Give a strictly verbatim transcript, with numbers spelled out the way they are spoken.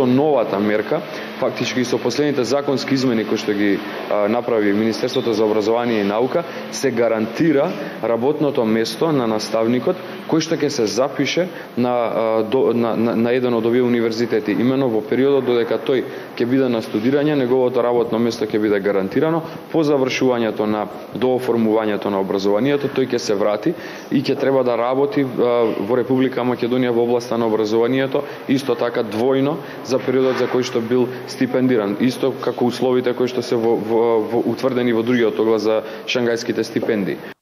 со новата мерка, фактички со последните законски измени кои што ги а, направи Министерството за образование и наука, се гарантира работното место на наставникот кој што ќе се запише на, а, до, на, на, на еден од овие универзитети. Именно во периодот додека тој ќе биде на студирање, неговото работно место ќе биде гарантирано. По завршувањето на дооформувањето на образованието, тој ќе се врати и ќе треба да работи а, во Република Македонија во областа на образованието, исто така двојно за периодот за кој што бил стипендиран, исто како условите кои што се во, во, во, утврдени во другиот оглас за шангајските стипендии.